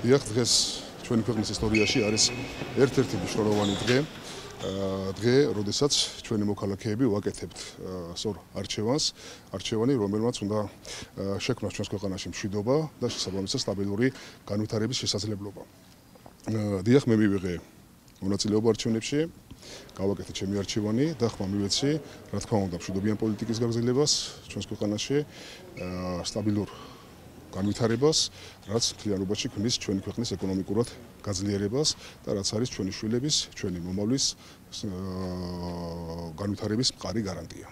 დიახ, დღეს ჩვენი ქვეყნის ისტორიაში არის ერთ-ერთი მნიშვნელოვანი დღე, როდესაც ჩვენი მოქალაქეები ვაკეთებთ სწორ არჩევანი, რომელმაც უნდა შექმნას ჩვენს ქვეყანაში მშვიდობა და შესაბამისად სტაბილური განვითარების შესაძლებლობა. დიახ, მე მივიღე მონაწილეობა არჩევნებში, გავაკეთე ჩემი არჩევანი და ხმა მივეცი, რა თქმა უნდა, მშვიდობიან პოლიტიკის გაგრძელებას ჩვენს ქვეყანაში, სტაბილურ განვითარებას, რაც მთლიანობაში ქმნის ჩვენი ქვეყნის ეკონომიკურად გაძლიერებას და რაც არის ჩვენი შვილების, ჩვენი მომავლის განვითარების მყარი გარანტია.